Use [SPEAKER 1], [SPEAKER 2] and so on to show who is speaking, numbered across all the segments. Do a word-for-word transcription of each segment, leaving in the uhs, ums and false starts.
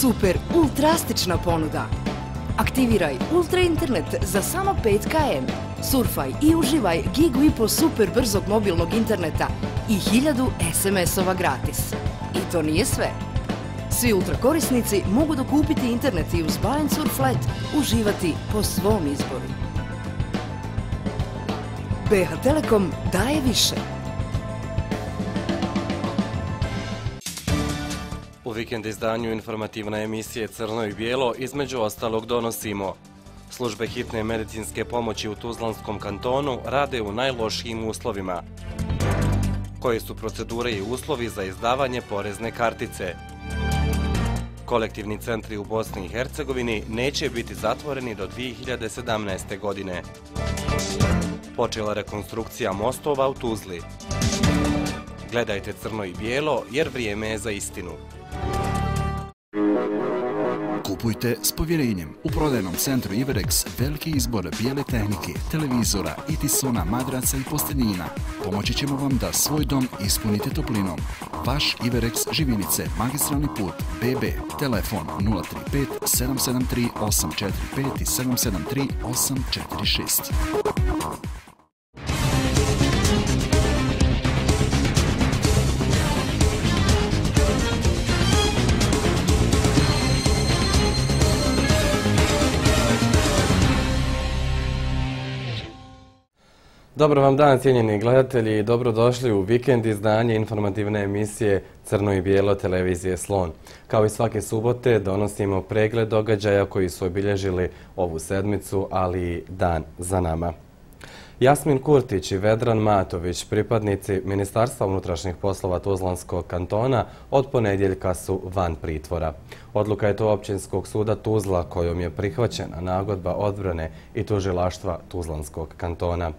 [SPEAKER 1] Super ultrastična ponuda. Aktiviraj ultra internet za samo pet kilometara. Surfaj i uživaj gigu i po super brzog mobilnog interneta i hiljadu es em es-ova gratis. I to nije sve. Svi ultra korisnici mogu dokupiti internet i uz Balance Surf Let uživati po svom izboru. be ha Telekom daje više.
[SPEAKER 2] U vikend izdanju informativne emisije Crno i bijelo između ostalog donosimo: službe hitne medicinske pomoći u Tuzlanskom kantonu rade u najlošijim uslovima. Koje su procedure i uslovi za izdavanje porezne kartice? Kolektivni centri u Bosni i Hercegovini neće biti zatvoreni do dvije hiljade sedamnaeste. godine. Počela rekonstrukcija mostova u Tuzli. Gledajte Crno i bijelo jer vrijeme je za istinu.
[SPEAKER 3] Kupujte s povjerenjem. U prodajnom centru Iverex veliki izbor bijele tehnike, televizora, itisona, madraca i posteljina. Pomoći ćemo vam da svoj dom ispunite toplinom. Vaš Iverex Živinice, magistralni put, be be, telefon nula tri pet sedam sedam tri osam četiri pet i sedam sedam tri osam četiri šest.
[SPEAKER 2] Dobar vam dan, cijenjeni gledatelji, i dobrodošli u vikend izdanje informativne emisije Crno i bijelo televizije Slon. Kao i svake subote donosimo pregled događaja koji su obilježili ovu sedmicu, ali i dan za nama. Jasmin Kurtić i Vedran Matović, pripadnici Ministarstva unutrašnjih poslova Tuzlanskog kantona, od ponedjeljka su van pritvora. Odluka je to Općinskog suda Tuzla kojom je prihvaćena nagodba odbrane i tužilaštva Tuzlanskog kantona.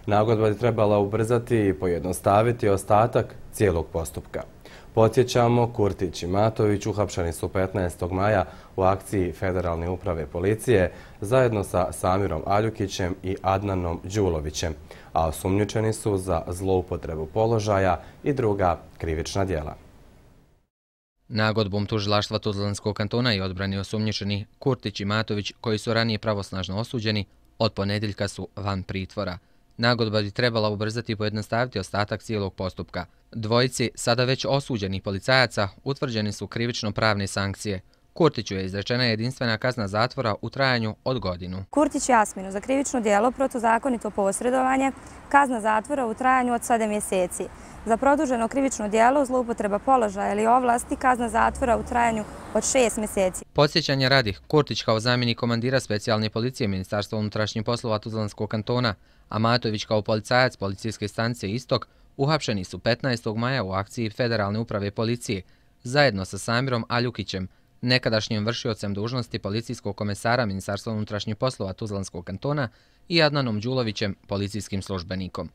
[SPEAKER 2] Nagodba je trebala ubrzati i pojednostaviti ostatak cijelog postupka. Podsjećamo, Kurtić i Matović uhapšeni su petnaestog maja u akciji Federalne uprave policije zajedno sa Samirom Aljukićem i Adnanom Đulovićem, a osumnjičeni su za zloupotrebu položaja i druga krivična djela.
[SPEAKER 4] Nagodbom tužilaštva Tuzlanskog kantona i odbrani osumnjičeni Kurtić i Matović, koji su ranije pravosnažno osuđeni, od ponedjeljka su van pritvora. Nagodba bi trebala ubrzati i pojednostaviti ostatak cijelog postupka. Dvojici sada već osuđenih policajaca utvrđeni su krivično-pravne sankcije. Kurtiću je izrečena jedinstvena kazna zatvora u trajanju od godinu.
[SPEAKER 5] Kurtić Jasminu za krivično djelo protuzakonito posredovanje, kazna zatvora u trajanju od sedam mjeseci. Za produženo krivično djelo, zloupotreba položaja ili ovlasti, kazna zatvora u trajanju od šest mjeseci.
[SPEAKER 4] Podsjećanje radi, Kurtić kao zamjenik komandira specijalne policije Ministarstva unutrašnjih poslova Tuzlanskog kantona, a Matović kao policajac policijske stanice Istok, uhapšeni su petnaestog maja u akciji Federalne uprave policije zajedno sa Samirom Aljukićem, nekadašnjim vršiocem dužnosti policijskog komesara Ministarstva unutrašnjih poslova Tuzlanskog kantona, i Adnanom Đulovićem, policijskim službenikom.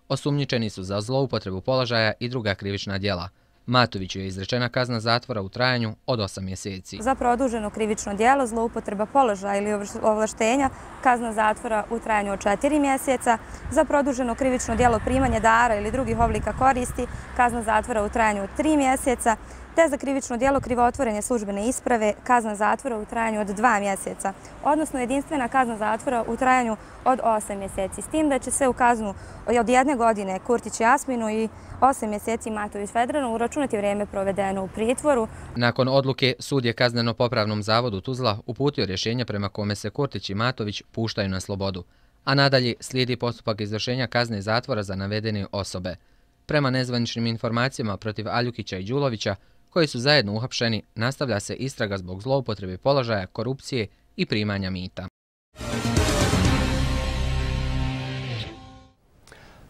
[SPEAKER 4] Osumnjičeni su za zloupotrebu položaja i druga krivična djela. Matoviću je izrečena kazna zatvora u trajanju od osam mjeseci.
[SPEAKER 5] Za produženo krivično djelo, zloupotreba položaja ili ovlaštenja, kazna zatvora u trajanju od četiri mjeseca. Za produženo krivično djelo primanje dara ili drugih oblika koristi, kazna zatvora u trajanju od tri mjeseca. Te za krivično djelo krivotvorenje službene isprave, kazna zatvora u trajanju od dva mjeseca, odnosno jedinstvena kazna zatvora u trajanju od osam mjeseci. S tim da će se u kaznu od jedne godine Kurtić Jasminu i osam mjeseci Matović Vedranu uračunati vrijeme provedeno u pritvoru.
[SPEAKER 4] Nakon odluke, sud je kazneno-popravnom zavodu Tuzla uputio rješenje prema kome se Kurtić i Matović puštaju na slobodu, a nadalje slijedi postupak izvršenja kazne zatvora za navedene osobe. Prema nezvaničnim informacijama protiv Aljukića i Đulovića, koji su zajedno uhapšeni, nastavlja se istraga zbog zloupotrebe položaja, korupcije i primanja mita.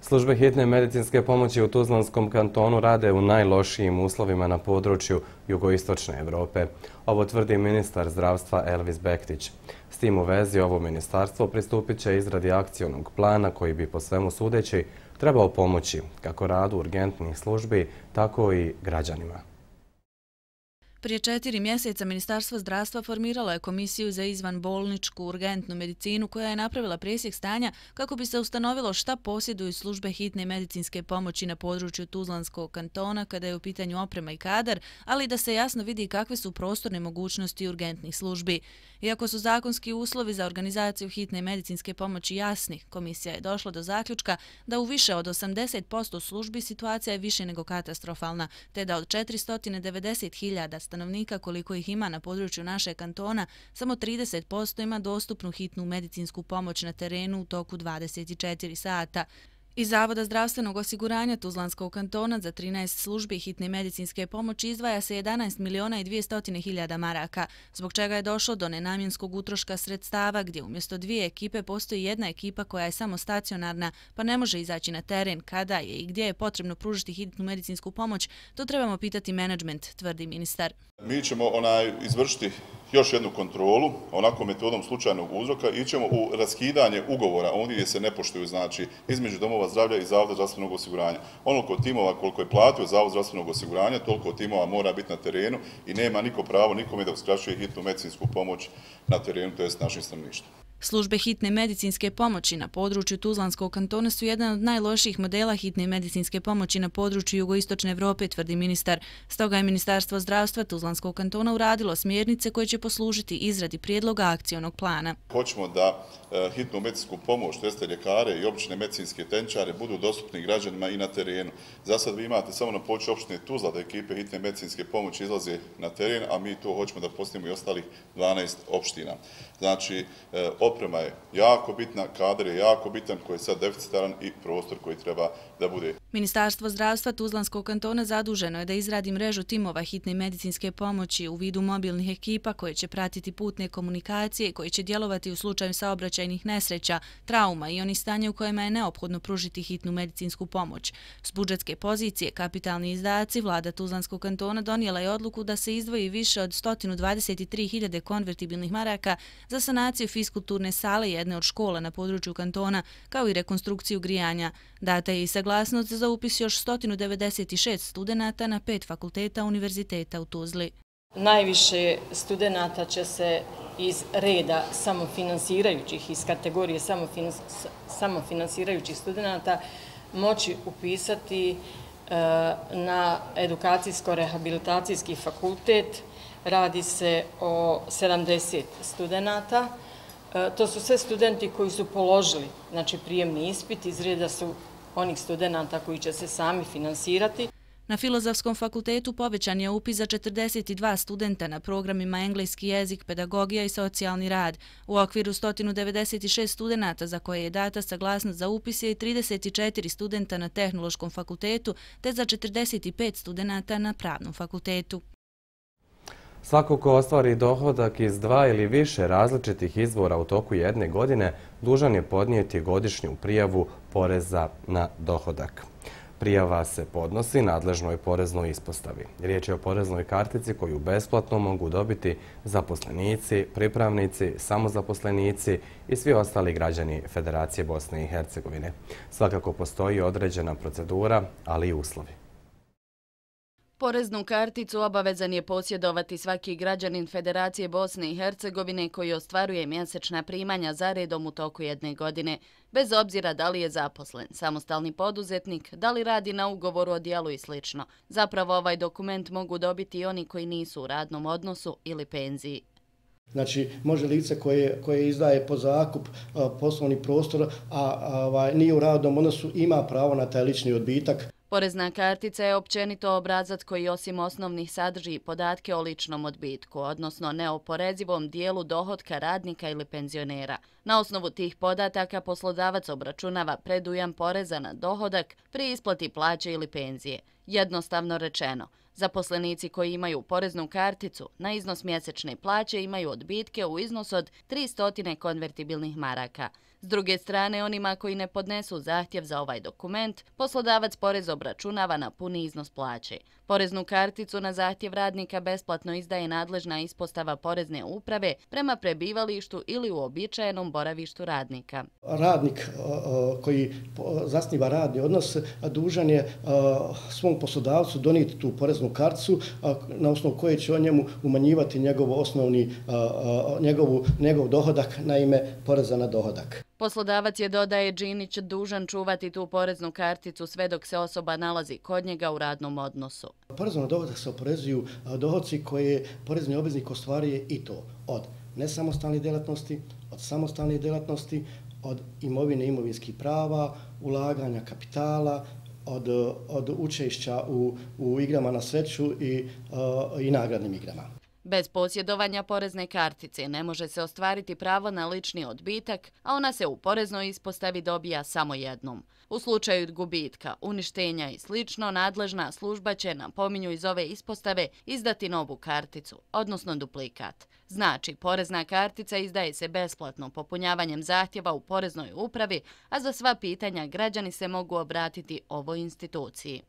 [SPEAKER 2] Službe hitne medicinske pomoći u Tuzlanskom kantonu rade u najlošijim uslovima na području jugoistočne Evrope. Ovo tvrdi ministar zdravstva Elvis Bektić. S tim u vezi ovo ministarstvo pristupit će izradi akcionog plana koji bi po svemu sudeći trebao pomoći kako radu urgentnih službi, tako i građanima.
[SPEAKER 6] Prije četiri mjeseca Ministarstvo zdravstva formiralo je komisiju za izvanbolničku urgentnu medicinu koja je napravila presjek stanja kako bi se ustanovilo šta posjeduju službe hitne medicinske pomoći na području Tuzlanskog kantona kada je u pitanju oprema i kadar, ali da se jasno vidi kakve su prostorne mogućnosti urgentnih službi. Iako su zakonski uslovi za organizaciju hitne medicinske pomoći jasni, komisija je došla do zaključka da u više od osamdeset posto službi situacija je više nego katastrofalna, te da od četiristo devedeset hiljada stanovnika koliko ih ima na području našeg kantona, samo trideset posto ima dostupnu hitnu medicinsku pomoć na terenu u toku dvadeset četiri sata. Iz Zavoda zdravstvenog osiguranja Tuzlanskog kantona za trinaest službi hitne medicinske pomoći izdvaja se jedanaest miliona i dvjesto hiljada maraka, zbog čega je došlo do nenamjenskog utroška sredstava gdje umjesto dvije ekipe postoji jedna ekipa koja je samo stacionarna pa ne može izaći na teren kada je i gdje je potrebno pružiti hitnu medicinsku pomoć, to trebamo pitati menadžment, tvrdi ministar.
[SPEAKER 7] Mi ćemo onaj izvršiti još jednu kontrolu, onako metodom slučajnog uzroka, i ćemo u raskidanje ugovora, ondje gdje se ne poštuju, znači između domova zdravlja i Zavoda zdravstvenog osiguranja. Onoliko timova koliko je platio Zavod zdravstvenog osiguranja, toliko timova mora biti na terenu i nema niko pravo nikome da uskraćuje hitnu medicinsku pomoć na terenu, to jest našim stanovništvom.
[SPEAKER 6] Službe hitne medicinske pomoći na području Tuzlanskog kantona su jedan od najlošijih modela hitne medicinske pomoći na području jugoistočne Evrope, tvrdi ministar. Stoga je Ministarstvo zdravstva Tuzlanskog kantona uradilo smjernice koje će poslužiti izradi prijedloga akcionog plana.
[SPEAKER 7] Hoćemo da e, hitnu medicinsku pomoć, to jeste ljekare i obične medicinske tehničare, budu dostupni građanima i na terenu. Za sad vi imate samo na području opštine Tuzla da ekipe hitne medicinske pomoći izlaze na teren, a mi to hoćemo da postavimo i ostalih dvanaest opština. Znači, e, oprema je jako bitna, kadar je jako bitan, koji je sad deficitaran i prostor koji treba da bude.
[SPEAKER 6] Ministarstvo zdravstva Tuzlanskog kantona zaduženo je da izradi mrežu timova hitne medicinske pomoći u vidu mobilnih ekipa koje će pratiti putne komunikacije i koji će djelovati u slučaju saobraćajnih nesreća, trauma i onih stanja u kojima je neophodno pružiti hitnu medicinsku pomoć. S budžetske pozicije kapitalni izdaci vlada Tuzlanskog kantona donijela je odluku da se izdvoji više od sto dvadeset tri hiljade konvertibilnih maraka za sanaciju fiskulturne sale jedne od škola na području kantona, kao i rekonstrukciju grijanja. Data je i saglasnost za upis još sto devedeset šest studenata na pet fakulteta univerziteta u Tuzli.
[SPEAKER 8] Najviše studenata će se iz reda samofinansirajućih, iz kategorije samofinansirajućih studenata moći upisati na edukacijsko-rehabilitacijski fakultet. Radi se o sedamdeset studenata. To su sve studenti koji su položili, znači, prijemni ispit, iz reda su onih studenata koji će se sami finansirati.
[SPEAKER 6] Na Filozofskom fakultetu povećan je upis za četrdeset dva studenta na programima engleski jezik, pedagogija i socijalni rad. U okviru sto devedeset šest studenata za koje je data saglasnost za upis je i trideset četiri studenta na Tehnološkom fakultetu, te za četrdeset pet studenata na Pravnom fakultetu.
[SPEAKER 2] Svako ko ostvari dohodak iz dva ili više različitih izvora u toku jedne godine dužan je podnijeti godišnju prijavu poreza na dohodak. Prijava se podnosi nadležnoj poreznoj ispostavi. Riječ je o poreznoj kartici koju besplatno mogu dobiti zaposlenici, pripravnici, samozaposlenici i svi ostali građani Federacije Bosne i Hercegovine. Svakako postoji određena procedura, ali i uslovi.
[SPEAKER 9] Poreznu karticu obavezan je posjedovati svaki građanin Federacije Bosne i Hercegovine koji ostvaruje mjesečna primanja za redom u toku jedne godine, bez obzira da li je zaposlen, samostalni poduzetnik, da li radi na ugovoru o djelu i sl. Zapravo ovaj dokument mogu dobiti i oni koji nisu u radnom odnosu ili penziji.
[SPEAKER 10] Znači, može lice koje, koje izdaje po zakup a, poslovni prostor, a, a nije u radnom odnosu, ima pravo na taj lični odbitak.
[SPEAKER 9] Porezna kartica je općenito obrazac koji osim osnovnih sadrži podatke o ličnom odbitku, odnosno neoporezivom dijelu dohotka radnika ili penzionera. Na osnovu tih podataka poslodavac obračunava predujam poreza na dohodak pri isplati plaće ili penzije. Jednostavno rečeno, zaposlenici koji imaju poreznu karticu na iznos mjesečne plaće imaju odbitke u iznosu od tristo konvertibilnih maraka. S druge strane, onima koji ne podnesu zahtjev za ovaj dokument, poslodavac porez obračunava na puni iznos plaće. Poreznu karticu na zahtjev radnika besplatno izdaje nadležna ispostava porezne uprave prema prebivalištu ili uobičajenom boravištu radnika.
[SPEAKER 10] Radnik koji zasniva radni odnos dužan je svom poslodavcu donijeti tu poreznu karticu na osnovu koje će on njemu umanjivati njegov osnovni njegovu, njegov dohodak na ime poreza na dohodak.
[SPEAKER 9] Poslodavac je, dodaje Đinić, dužan čuvati tu poreznu karticu sve dok se osoba nalazi kod njega u radnom odnosu.
[SPEAKER 10] Porezom na dohodak se oporezuju dohodci koje porezni obveznik ostvaruje i to od nesamostalnih djelatnosti, od samostalnih djelatnosti, od imovine imovinskih prava, ulaganja kapitala, od, od učešća u, u igrama na sreću i, uh, i nagradnim igrama.
[SPEAKER 9] Bez posjedovanja porezne kartice ne može se ostvariti pravo na lični odbitak, a ona se u poreznoj ispostavi dobija samo jednom. U slučaju gubitka, uništenja i slično, nadležna služba će, napominju iz ove ispostave, izdati novu karticu, odnosno duplikat. Znači, porezna kartica izdaje se besplatno popunjavanjem zahtjeva u poreznoj upravi, a za sva pitanja građani se mogu obratiti ovoj instituciji.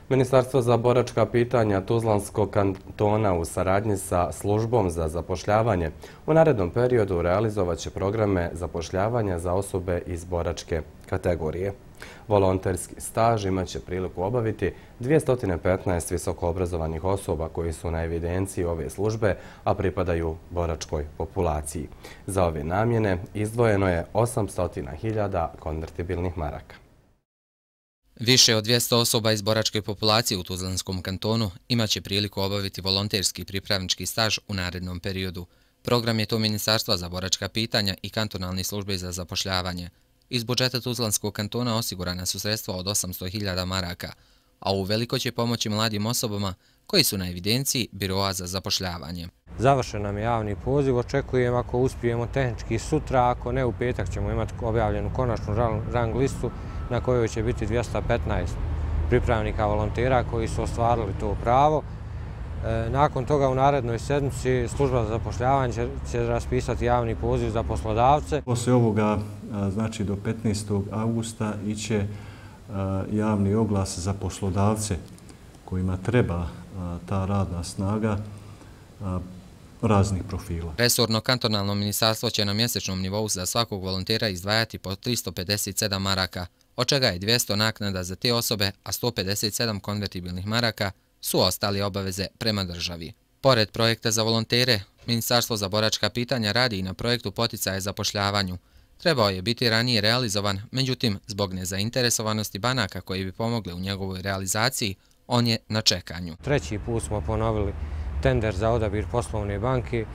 [SPEAKER 2] Ministarstvo za boračka pitanja Tuzlanskog kantona u saradnji sa službom za zapošljavanje u narednom periodu realizovat će programe zapošljavanja za osobe iz boračke kategorije. Volonterski staž imat će priliku obaviti dvjesto petnaest visokoobrazovanih osoba koji su na evidenciji ove službe, a pripadaju boračkoj populaciji. Za ove namjene izdvojeno je osamsto hiljada konvertibilnih maraka.
[SPEAKER 4] Više od dvjesto osoba iz boračke populacije u Tuzlanskom kantonu imaće priliku obaviti volonterski pripravnički staž u narednom periodu. Program je to Ministarstva za boračka pitanja i kantonalne službe za zapošljavanje. Iz budžeta Tuzlanskog kantona osigurana su sredstva od osamsto hiljada maraka, a uveliko će pomoći mladim osobama koji su na evidenciji Biroa za zapošljavanje.
[SPEAKER 11] Završen nam je javni poziv, očekujem ako uspijemo tehnički sutra, ako ne u petak ćemo imati objavljenu konačnu rang listu na kojoj će biti dvjesto petnaest pripravnika volontera koji su ostvarili to pravo. Nakon toga u narednoj sedmici služba za zapošljavanje će raspisati javni poziv za poslodavce.
[SPEAKER 12] Poslije ovoga, znači do petnaestog augusta, iće javni oglas za poslodavce kojima treba ta radna snaga raznih profila.
[SPEAKER 4] Resorno kantonalno ministarstvo će na mjesečnom nivou za svakog volontera izdvajati po tristo pedeset sedam maraka, od čega je dvjesto naknada za te osobe, a sto pedeset sedam konvertibilnih maraka su ostali obaveze prema državi. Pored projekta za volontere, Ministarstvo za boračka pitanja radi i na projektu poticaja zapošljavanju. Trebao je biti ranije realizovan, međutim, zbog nezainteresovanosti banaka koji bi pomogli u njegovoj realizaciji, on je na čekanju.
[SPEAKER 11] Treći put smo ponovili tender za odabir poslovne banke.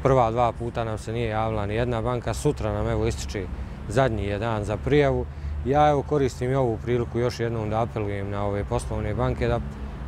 [SPEAKER 11] Prva dva puta nam se nije javila ni jedna banka, sutra nam evo ističe zadnji je dan za prijavu. Ja evo koristim i ovu priliku još jednom da apelujem na ove poslovne banke da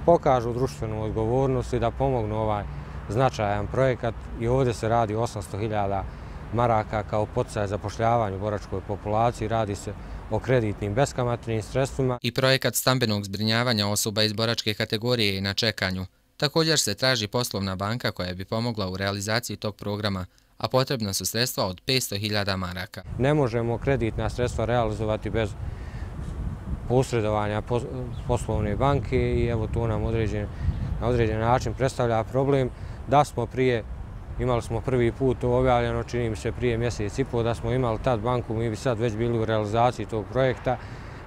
[SPEAKER 11] pokažu društvenu odgovornost i da pomognu ovaj značajan projekat. I ovdje se radi osamsto hiljada maraka kao poticaj zapošljavanju u boračkoj populaciji. Radi se o kreditnim beskamatnim sredstvima.
[SPEAKER 4] I projekat stambenog zbrinjavanja osoba iz boračke kategorije je na čekanju. Također se traži poslovna banka koja bi pomogla u realizaciji tog programa, a potrebna su sredstva od petsto hiljada maraka.
[SPEAKER 11] Ne možemo kreditna sredstva realizovati bez posredovanja poslovne banke i evo to nam određen, na određen način predstavlja problem. Da smo prije, imali smo prvi put to objavljeno, čini mi se prije mjesec i pol, da smo imali tad banku, mi bi sad već bili u realizaciji tog projekta.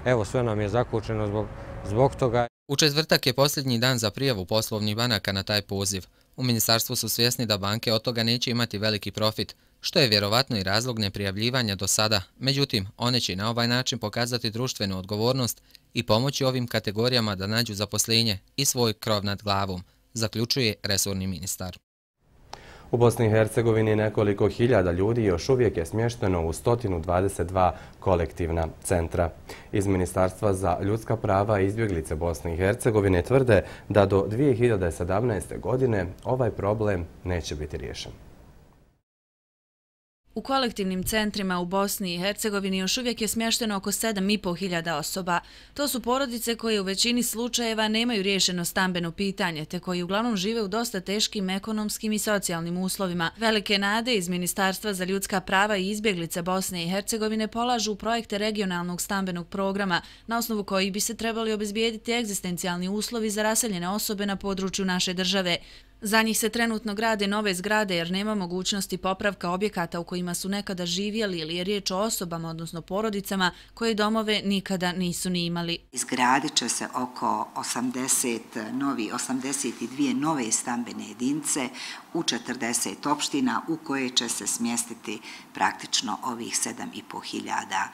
[SPEAKER 11] Evo sve nam je zakočeno zbog, zbog toga.
[SPEAKER 4] U četvrtak je posljednji dan za prijavu poslovnih banaka na taj poziv. U ministarstvu su svjesni da banke od toga neće imati veliki profit, što je vjerovatno i razlog neprijavljivanja do sada. Međutim, one će na ovaj način pokazati društvenu odgovornost i pomoći ovim kategorijama da nađu zaposlenje i svoj krov nad glavom, zaključuje resorni ministar.
[SPEAKER 2] U Bosni i Hercegovini nekoliko hiljada ljudi još uvijek je smješteno u sto dvadeset dva kolektivna centra. Iz Ministarstva za ljudska prava i izbjeglice Bosne i Hercegovine tvrde da do dvije hiljade sedamnaeste. godine ovaj problem neće biti riješen.
[SPEAKER 6] U kolektivnim centrima u Bosni i Hercegovini još uvijek je smješteno oko sedam i po hiljada osoba. To su porodice koje u većini slučajeva nemaju riješeno stambeno pitanje, te koji uglavnom žive u dosta teškim ekonomskim i socijalnim uslovima. Velike nade iz Ministarstva za ljudska prava i izbjeglice Bosne i Hercegovine polažu u projekte regionalnog stambenog programa, na osnovu kojih bi se trebali obezbijediti egzistencijalni uslovi za raseljene osobe na području naše države. Za njih se trenutno grade nove zgrade jer nema mogućnosti popravka objekata u kojima su nekada živjeli ili je riječ o osobama, odnosno porodicama, koje domove nikada nisu ni imali.
[SPEAKER 13] Izgradit će se oko osamdeset novi, osamdeset dvije nove stambene jedinice u četrdeset opština u koje će se smjestiti praktično ovih sedam i po hiljada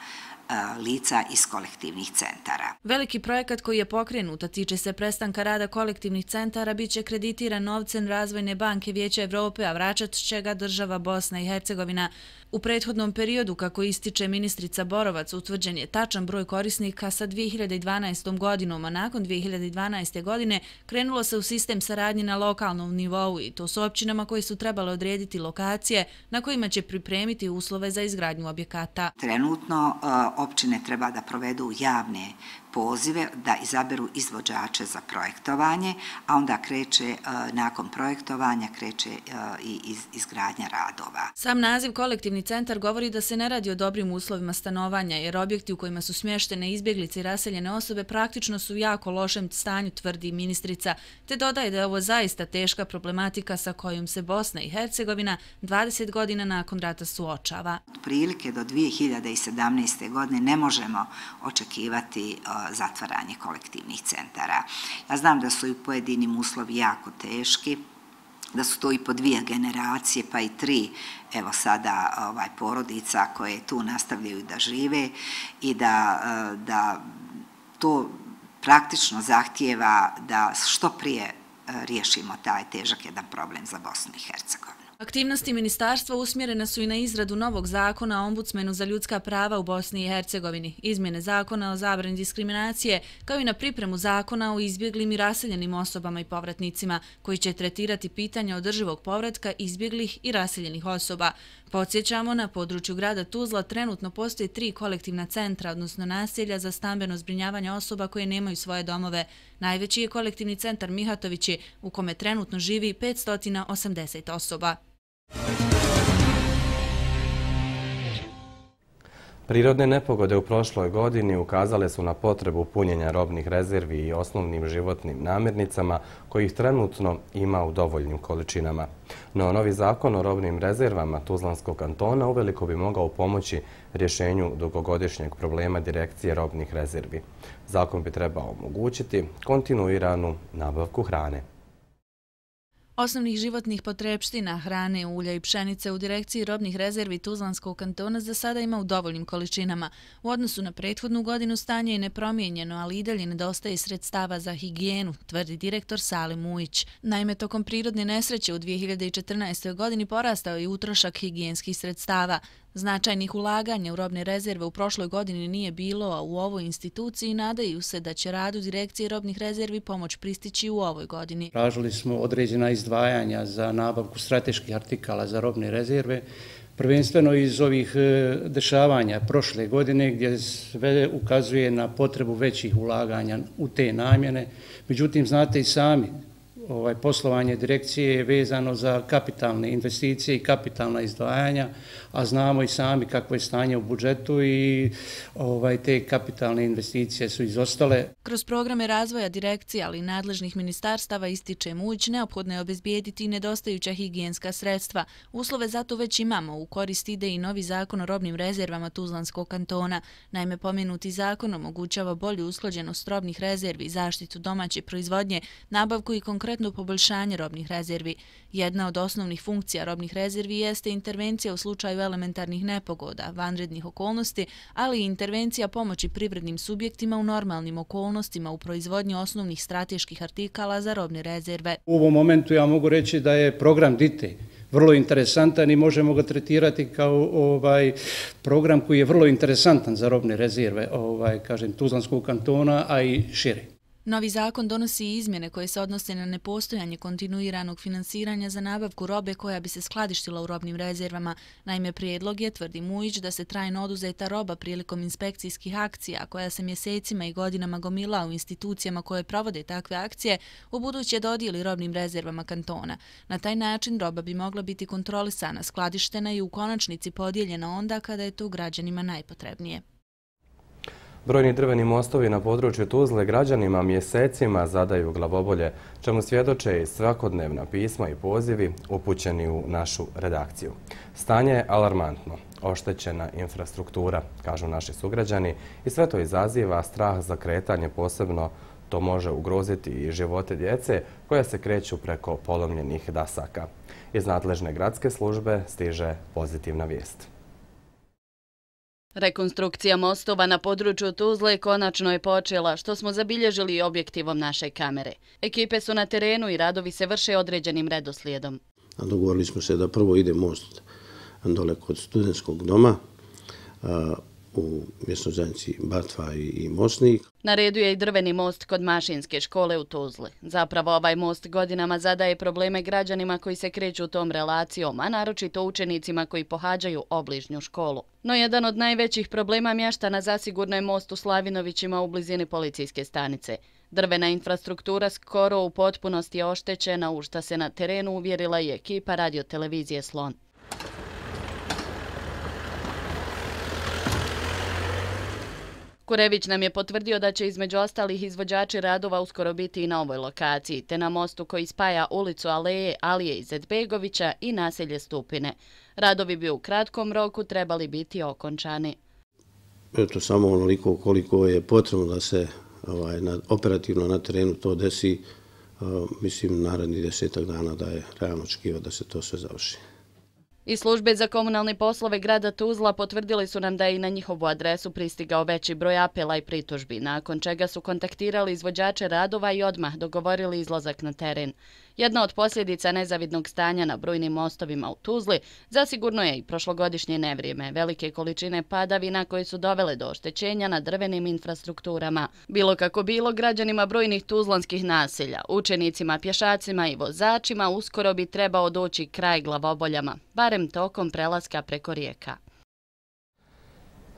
[SPEAKER 13] lica iz kolektivnih centara.
[SPEAKER 6] Veliki projekat koji je pokrenut, a tiče se prestanka rada kolektivnih centara, bit će kreditiran novcem Razvojne banke Vijeća Evrope, a vraćat će ga država Bosna i Hercegovina. U prethodnom periodu, kako ističe ministrica Borovac, utvrđen je tačan broj korisnika sa dvije hiljade dvanaestom godinom, a nakon dvije hiljade dvanaeste godine krenulo se u sistem saradnje na lokalnom nivou i to s općinama koje su trebale odrediti lokacije na kojima će pripremiti uslove za izgradnju objekata.
[SPEAKER 13] Trenutno općine treba da provedu javne pozive, da izaberu izvođače za projektovanje, a onda kreće, nakon projektovanja, kreće i izgradnja radova.
[SPEAKER 6] Sam naziv kolektivni centar govori da se ne radi o dobrim uslovima stanovanja, jer objekti u kojima su smještene izbjeglice i raseljene osobe praktično su u jako lošem stanju, tvrdi ministrica, te dodaje da je ovo zaista teška problematika sa kojom se Bosna i Hercegovina dvadeset godina nakon rata suočava.
[SPEAKER 13] Prilike do dvije hiljade sedamnaeste. godine ne možemo očekivati zatvaranje kolektivnih centara. Ja znam da su i pojedinim uslovi jako teški, da su to i po dvije generacije, pa i tri, evo sada ovaj, porodica koje tu nastavljaju da žive i da, da to praktično zahtijeva da što prije riješimo taj težak jedan problem za Bosnu i Hercegovinu.
[SPEAKER 6] Aktivnosti ministarstva usmjerene su i na izradu novog zakona o ombudsmenu za ljudska prava u Bosni i Hercegovini, izmjene zakona o zabrani diskriminacije, kao i na pripremu zakona o izbjeglim i raseljenim osobama i povratnicima, koji će tretirati pitanja održivog povratka izbjeglih i raseljenih osoba. Podsjećamo, na području grada Tuzla trenutno postoje tri kolektivna centra, odnosno naselja za stambeno zbrinjavanje osoba koje nemaju svoje domove. Najveći je kolektivni centar Mihatovići, u kome trenutno živi petsto osamdeset osoba.
[SPEAKER 2] Prirodne nepogode u prošloj godini ukazale su na potrebu punjenja robnih rezervi i osnovnim životnim namirnicama kojih trenutno ima u dovoljnim količinama. No, novi zakon o robnim rezervama Tuzlanskog kantona uveliko bi mogao pomoći rješenju dugogodišnjeg problema direkcije robnih rezervi. Zakon bi trebao omogućiti kontinuiranu nabavku hrane.
[SPEAKER 6] Osnovnih životnih potrepština, hrane, ulja i pšenice u direkciji robnih rezervi Tuzlanskog kantona za sada ima u dovoljnim količinama. U odnosu na prethodnu godinu stanje je nepromijenjeno, ali i dalje nedostaje sredstava za higijenu, tvrdi direktor Salim Mujić. Naime, tokom prirodne nesreće u dvije hiljade četrnaestoj. godini porastao je utrošak higijenskih sredstava. Značajnih ulaganja u robne rezerve u prošloj godini nije bilo, a u ovoj instituciji nadaju se da će radu direkcije robnih rezervi pomoć pristići u ovoj godini.
[SPEAKER 14] Tražili smo određena izdvajanja za nabavku strateških artikala za robne rezerve, prvenstveno iz ovih dešavanja prošle godine gdje sve ukazuje na potrebu većih ulaganja u te namjene. Međutim, znate i sami, ovaj, poslovanje direkcije je vezano za kapitalne investicije i kapitalna izdvajanja, a znamo i sami kakvo je stanje u budžetu i ovaj, te kapitalne investicije su izostale.
[SPEAKER 6] Kroz programe razvoja direkcije, ali i nadležnih ministarstava, ističe Mujić, neophodno je obezbijediti nedostajuća higijenska sredstva. Uslove zato već imamo, u korist ide i novi zakon o robnim rezervama Tuzlanskog kantona. Naime, pomenuti zakon omogućava bolju usklađenost robnih rezervi, zaštitu domaće proizvodnje, nabavku i konkretno poboljšanje robnih rezervi. Jedna od osnovnih funkcija robnih rezervi jeste intervencija u slučaju elementarnih nepogoda, vanrednih okolnosti, ali i intervencija pomoći privrednim subjektima u normalnim okolnostima u proizvodnji osnovnih strateških artikala za robne rezerve.
[SPEAKER 14] U ovom momentu ja mogu reći da je program D I T E vrlo interesantan i možemo ga tretirati kao ovaj program koji je vrlo interesantan za robne rezerve, ovaj, kažem, Tuzlanskog kantona, a i šire.
[SPEAKER 6] Novi zakon donosi izmjene koje se odnose na nepostojanje kontinuiranog finansiranja za nabavku robe koja bi se skladištila u robnim rezervama. Naime, prijedlog je, tvrdi Mujić, da se trajno oduzeta roba prilikom inspekcijskih akcija, koja se mjesecima i godinama gomila u institucijama koje provode takve akcije, u buduće dodijeli robnim rezervama kantona. Na taj način roba bi mogla biti kontrolisana, skladištena i u konačnici podijeljena onda kada je to građanima najpotrebnije.
[SPEAKER 2] Brojni drveni mostovi na području Tuzle građanima mjesecima zadaju glavobolje, čemu svjedoče i svakodnevna pisma i pozivi upućeni u našu redakciju. Stanje je alarmantno, oštećena infrastruktura, kažu naši sugrađani, i sve to izaziva strah za kretanje, posebno to može ugroziti i živote djece koja se kreću preko polomljenih dasaka. Iz nadležne gradske službe stiže pozitivna vijest.
[SPEAKER 9] Rekonstrukcija mostova na području Tuzle konačno je počela, što smo zabilježili objektivom naše kamere. Ekipe su na terenu i radovi se vrše određenim redoslijedom.
[SPEAKER 15] Dogovorili smo se da prvo ide most dole kod studentskog doma u mjesnoj zajednici Batva i Mosnik.
[SPEAKER 9] Na redu je i drveni most kod Mašinske škole u Tuzli. Zapravo ovaj most godinama zadaje probleme građanima koji se kreću tom relacijom, a naročito učenicima koji pohađaju obližnju školu. No jedan od najvećih problema mještana zasigurno je most u Slavinovićima u blizini policijske stanice. Drvena infrastruktura skoro u potpunosti je oštećena, u šta se na terenu uvjerila i ekipa radiotelevizije Slon. Kurević nam je potvrdio da će između ostalih izvođači radova uskoro biti i na ovoj lokaciji, te na mostu koji spaja ulicu Aleje Alije Izetbegovića i naselje Stupine. Radovi bi u kratkom roku trebali biti okončani.
[SPEAKER 15] Eto, samo onoliko koliko je potrebno da se ovaj, na, operativno na terenu to desi, uh, mislim narednih desetak dana da je realno očekivati da se to sve završi.
[SPEAKER 9] Iz službe za komunalne poslove grada Tuzla potvrdili su nam da je i na njihovu adresu pristigao veći broj apela i pritužbi, nakon čega su kontaktirali izvođače radova i odmah dogovorili izlazak na teren. Jedna od posljedica nezavidnog stanja na brojnim mostovima u Tuzli zasigurno je i prošlogodišnje nevrijeme, velike količine padavina koje su dovele do oštećenja na drvenim infrastrukturama. Bilo kako bilo, građanima brojnih tuzlanskih naselja, učenicima, pješacima i vozačima uskoro bi trebao doći kraj glavoboljama, barem tokom prelaska preko rijeka.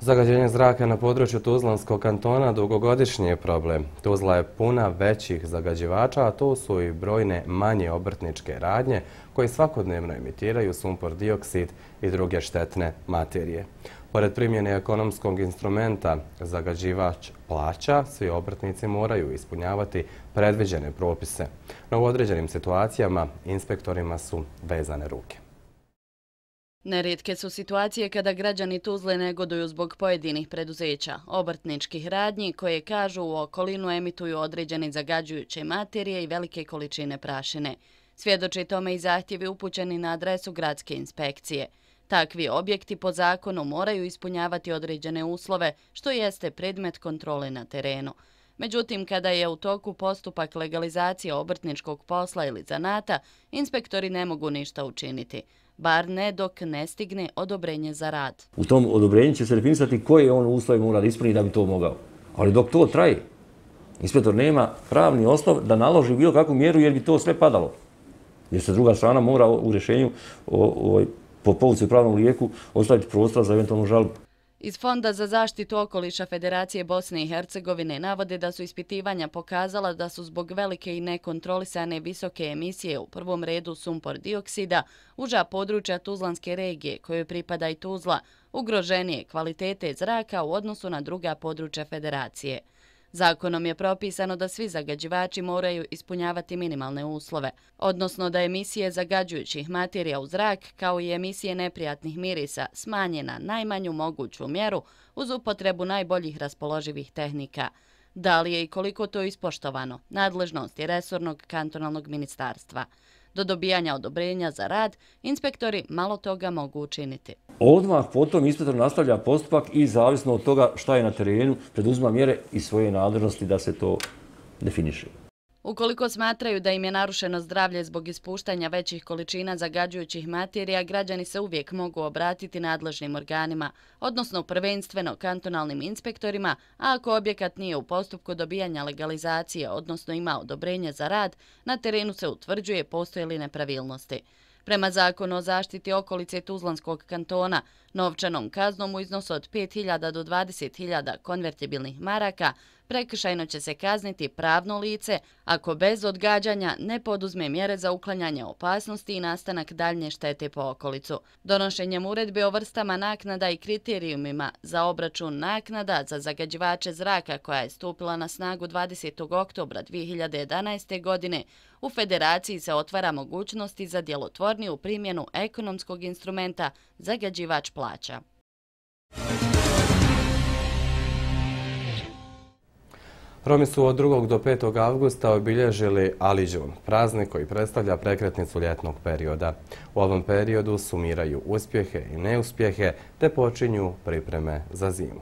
[SPEAKER 2] Zagađenje zraka na području Tuzlanskog kantona dugogodišnji je problem. Tuzla je puna većih zagađivača, a to su i brojne manje obrtničke radnje koje svakodnevno emitiraju sumpor dioksid i druge štetne materije. Pored primjene ekonomskog instrumenta zagađivač plaća, svi obrtnici moraju ispunjavati predviđene propise. No u određenim situacijama inspektorima su vezane ruke.
[SPEAKER 9] Nerijetke su situacije kada građani Tuzle negoduju zbog pojedinih preduzeća, obrtničkih radnji koje, kažu, u okolinu emituju određene zagađujuće materije i velike količine prašine. Svjedoči tome i zahtjevi upućeni na adresu gradske inspekcije. Takvi objekti po zakonu moraju ispunjavati određene uslove, što jeste predmet kontrole na terenu. Međutim, kada je u toku postupak legalizacije obrtničkog posla ili zanata, inspektori ne mogu ništa učiniti, bar ne dok ne stigne odobrenje za rad.
[SPEAKER 16] U tom odobrenju će se definisati koje on uslove mora da ispuni da bi to mogao. Ali dok to traje, inspektor nema pravni osnov da naloži bilo kakvu mjeru jer bi to sve padalo. Jer se druga strana mora u rješenju o, o, po povuci u pravnom lijeku ostaviti prostora za eventualnu žalbu.
[SPEAKER 9] Iz Fonda za zaštitu okoliša Federacije Bosne i Hercegovine navode da su ispitivanja pokazala da su zbog velike i nekontrolisane visoke emisije, u prvom redu sumpor dioksida, uža područja Tuzlanske regije, kojoj pripada i Tuzla, ugroženije kvalitete zraka u odnosu na druga područja Federacije. Zakonom je propisano da svi zagađivači moraju ispunjavati minimalne uslove, odnosno da emisije zagađujućih materija u zrak kao i emisije neprijatnih mirisa smanje na najmanju moguću mjeru uz upotrebu najboljih raspoloživih tehnika. Da li je i koliko to ispoštovano? Nadležnost je resornog kantonalnog ministarstva. Do dobijanja odobrenja za rad, inspektori malo toga mogu učiniti.
[SPEAKER 16] Odmah potom inspektor nastavlja postupak i zavisno od toga šta je na terenu, preduzima mjere i svoje nadležnosti da se to definiše.
[SPEAKER 9] Ukoliko smatraju da im je narušeno zdravlje zbog ispuštanja većih količina zagađujućih materija, građani se uvijek mogu obratiti nadležnim organima, odnosno prvenstveno kantonalnim inspektorima, a ako objekat nije u postupku dobijanja legalizacije, odnosno ima odobrenje za rad, na terenu se utvrđuje postoje li nepravilnosti. Prema zakonu o zaštiti okolice Tuzlanskog kantona, novčanom kaznom u iznosu od pet hiljada do dvadeset hiljada konvertibilnih maraka prekršajno će se kazniti pravno lice ako bez odgađanja ne poduzme mjere za uklanjanje opasnosti i nastanak daljnje štete po okolicu. Donošenjem uredbe o vrstama naknada i kriterijumima za obračun naknada za zagađivače zraka koja je stupila na snagu dvadesetog oktobra dvije hiljade jedanaeste. godine, u Federaciji se otvara mogućnosti za djelotvorniju primjenu ekonomskog instrumenta zagađivač plaća.
[SPEAKER 2] Romi su od drugog do petog avgusta obilježili Aliđun, praznik koji predstavlja prekretnicu ljetnog perioda. U ovom periodu sumiraju uspjehe i neuspjehe te počinju pripreme za zimu.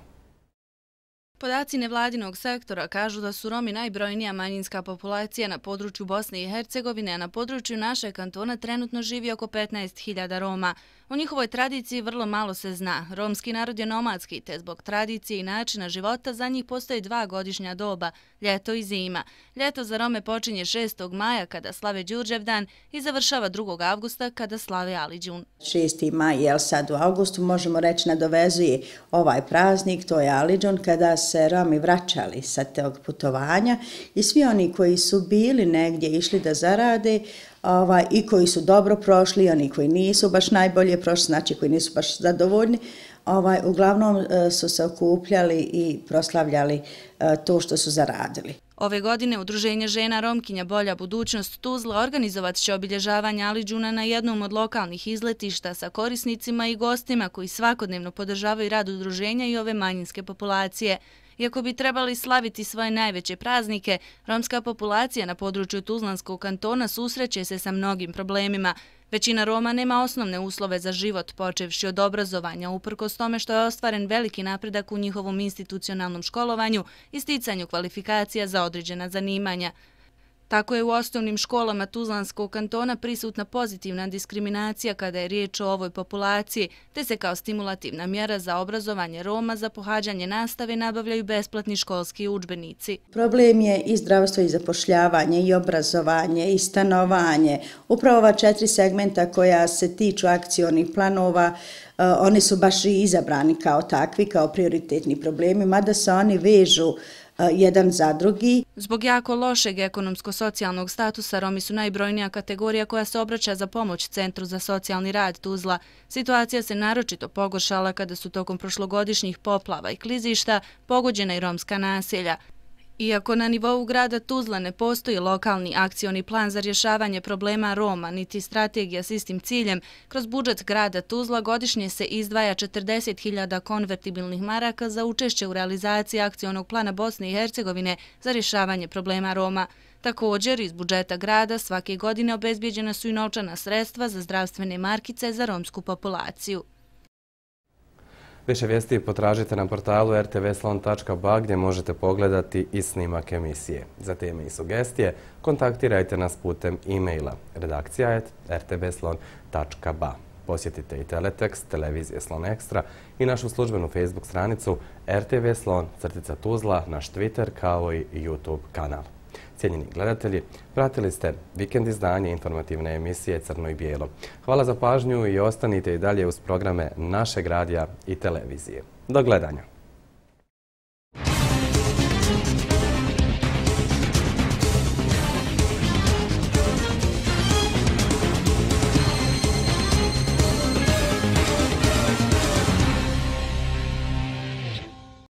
[SPEAKER 6] Podaci nevladinog sektora kažu da su Romi najbrojnija manjinska populacija na području Bosne i Hercegovine, a na području našeg kantona trenutno živi oko petnaest hiljada Roma. O njihovoj tradiciji vrlo malo se zna. Romski narod je nomadski, te zbog tradicije i načina života za njih postoji dva godišnja doba, ljeto i zima. Ljeto za Rome počinje šestog maja kada slave Đurđevdan i završava drugog avgusta kada slave Aliđun.
[SPEAKER 17] šesti maj, jel sad u avgustu, možemo reći, nadovezuje ovaj praznik, to je Aliđun, kada se Romi vraćali sa tog putovanja i svi oni koji su bili negdje išli da zarade, Ovaj, i koji su dobro prošli, oni koji nisu baš najbolje prošli, znači koji nisu baš zadovoljni, ovaj, uglavnom e, su se okupljali i proslavljali e, to što su zaradili.
[SPEAKER 6] Ove godine Udruženje žena Romkinja Bolja budućnost Tuzla organizovat će obilježavanje Aliđuna na jednom od lokalnih izletišta sa korisnicima i gostima koji svakodnevno podržavaju rad udruženja i ove manjinske populacije. Iako bi trebali slaviti svoje najveće praznike, romska populacija na području Tuzlanskog kantona susreće se sa mnogim problemima. Većina Roma nema osnovne uslove za život, počevši od obrazovanja, uprkos tome što je ostvaren veliki napredak u njihovom institucionalnom školovanju i sticanju kvalifikacija za određena zanimanja. Tako je u osnovnim školama Tuzlanskog kantona prisutna pozitivna diskriminacija kada je riječ o ovoj populaciji, te se kao stimulativna mjera za obrazovanje Roma za pohađanje nastave nabavljaju besplatni školski udžbenici.
[SPEAKER 17] Problem je i zdravstvo i zapošljavanje, i obrazovanje, i stanovanje. Upravo ova četiri segmenta koja se tiču akcionih planova, oni su baš i izabrani kao takvi, kao prioritetni problemi, mada se oni vežu jedan za drugi.
[SPEAKER 6] Zbog jako lošeg ekonomsko-socijalnog statusa Romi su najbrojnija kategorija koja se obraća za pomoć Centru za socijalni rad Tuzla. Situacija se naročito pogoršala kada su tokom prošlogodišnjih poplava i klizišta pogođena i romska naselja. Iako na nivou grada Tuzla ne postoji lokalni akcioni plan za rješavanje problema Roma, niti strategija s istim ciljem, kroz budžet grada Tuzla godišnje se izdvaja četrdeset hiljada konvertibilnih maraka za učešće u realizaciji akcionog plana Bosne i Hercegovine za rješavanje problema Roma. Također, iz budžeta grada svake godine obezbijeđena su i novčana sredstva za zdravstvene markice za romsku populaciju.
[SPEAKER 2] Više vijesti potražite na portalu er te ve slon tačka ba gdje možete pogledati i snimak emisije. Za teme i sugestije kontaktirajte nas putem e-maila redakcija et er te ve slon tačka ba. Posjetite i teletekst televizije Slon Ekstra i našu službenu Facebook stranicu er te ve Slon crtica Tuzla, naš Twitter kao i YouTube kanal. Cijenjeni gledatelji, pratili ste vikend izdanje informativne emisije Crno i bijelo. Hvala za pažnju i ostanite i dalje uz programe našeg radija i televizije. Do gledanja!